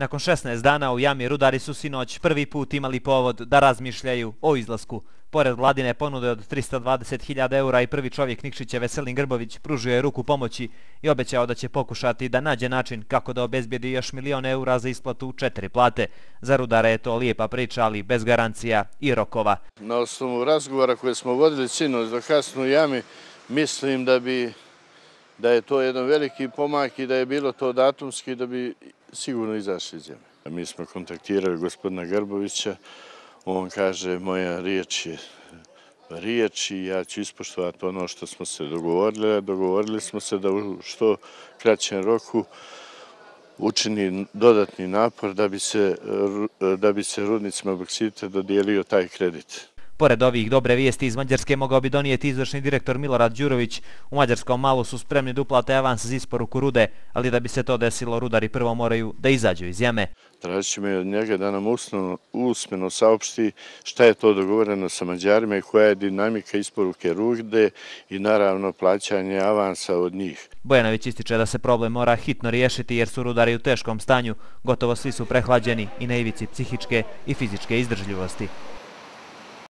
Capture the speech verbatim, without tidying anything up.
Nakon šesnaest dana u jami rudari su sinoć prvi put imali povod da razmišljaju o izlasku. Pored vladine ponude od trista dvadeset hiljada eura i prvi čovjek Nikšića Veselin Grbović pružio je ruku pomoći i obećao da će pokušati da nađe način kako da obezbijedi još milion eura za isplatu četiri plate. Za rudare je to lijepa priča, ali bez garancija i rokova. Na osnovu razgovora koje smo vodili sinoć do kasno u jami, mislim da bi da je to jedan veliki pomak i da je bilo to datumski da bi sigurno izašli iz jame. Mi smo kontaktirali gospodina Grbovića, on kaže moja riječ je riječ i ja ću ispoštovati ono što smo se dogovorili. Dogovorili smo se da u što kraćem roku učini dodatni napor da bi se, da bi se rudnicima boksita dodijelio taj kredit. Pored ovih dobre vijesti iz Mađarske mogao bi donijeti izvršni direktor Milorad Đurović. U mađarskom Malu su spremni da uplate avans za isporuku rude, ali da bi se to desilo, rudari prvo moraju da izađu iz jame. Tražit ćemo od njega da nam usmeno saopšti šta je to dogovoreno sa Mađarima i koja je dinamika isporuke rude i naravno plaćanje avansa od njih. Bojanović ističe da se problem mora hitno riješiti jer su rudari u teškom stanju, gotovo svi su prehlađeni i na ivici psihičke i fizičke izdržljivosti.